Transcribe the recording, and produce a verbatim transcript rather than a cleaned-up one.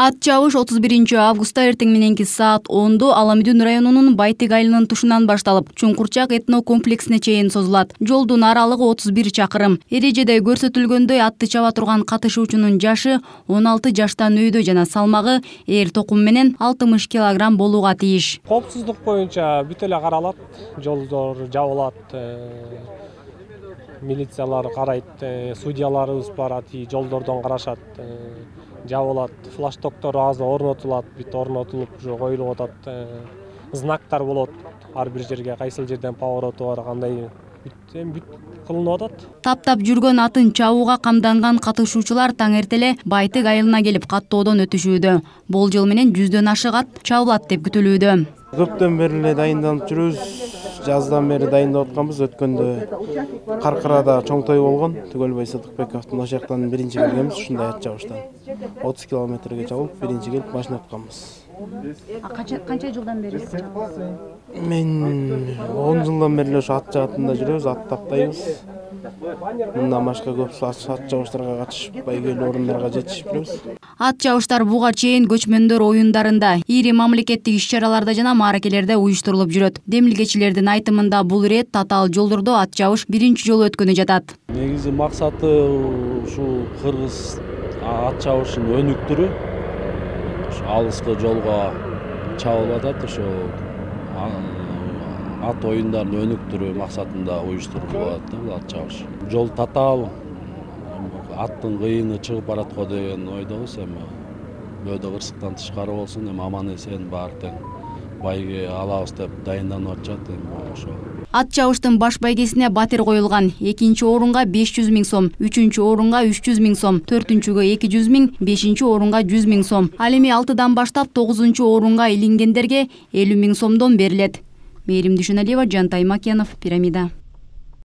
Ат чабыш отуз биринчи августта эртең мененки саат ондо Аламүдүн районунун Байтык айылынын тушунан башталып, Чуңкурчак этно комплексине чейин созулат. Жолдун аралыгы отуз бир чакырым. Эрежеде көрсөтүлгөндөй атты чаба турган катышуучунун жашы он алты жаштан өйдө жана салмагы эр токум менен алтымыш килограмм болууга тийиш. Коопсуздук боюнча бүт эле каралат, жолдор жабылат, милициялар карайт, судьяларыбыз барат, жолдордон карашат, жабылат, флаштоктор азыр орнотулат, бүт орнотулуп, уже коюлуп атат, знактар болот, ар бир жерге кайсыл жерден повороту бар, кандай бүт кылынып атат. Таптап жүргөн атын чабууга камданган катышуучулар таң эртеле Байтык айылына келип каттоодон өтүшүүдө. Болжол менен жүздөн ашык ат чабылат деп күтүлүүдө. Көптөн бери эле дайындалып жүрөбүз. Жаздан бери дайындап атканбыз. Өткөндө Каркырада чоң той болгон. Түгөлбай Сыдыкбековдун ошол жактан биринчи келгенбиз, ушундай ат чабыштан. отуз километрге чабып, биринчи келип машина атканбыз. А канча канча жылдан бери чабасыз? Мен он жылдан бери ошо ат жаатында жүрөбүз, ат таптайбыз. Мындан башка көп ат чабыштарга катышып, байгелүү орундарга жетишип жүрөбүз. Ат чабыштар буга чейин көчмөндөр оюндарында, ири мамлекеттик иш-чараларда жана мааракелерде уюштурулуп жүрөт. Демилгечилердин айтымында бул ирет татаал жолдордо ат чабыш биринчи жолу өткөнү жатат. Негизи максаты ушул кыргыз ат чабышынын өнүктүрүү. Алыскы жолго чабылып атат, ошо ат оюндарын өнүктүрүү максатында уюштурулуп атат бул ат чабыш. Жол татаал, аттын кыйыны чыгып бараткан деген ойдобуз, эми бөөдө кырсыктан тышкары болсун, эми аман эсен баары тең байге алабыз деп дайынданып атышат, эми ошо. Ат чабыштын баш байгесине батир коюлган. Экинчи орунга беш жүз миң сом, үчүнчү орунга үч жүз миң сом, төртүнчүгө эки жүз миң, бешинчи орунга жүз миң сом. Ал эми алтыдан баштап тогузунчу орунга илингендерге элүү миң сомдон берилет. Мээрим Дүйшөналиева, Жантай Макенов, Пирамида.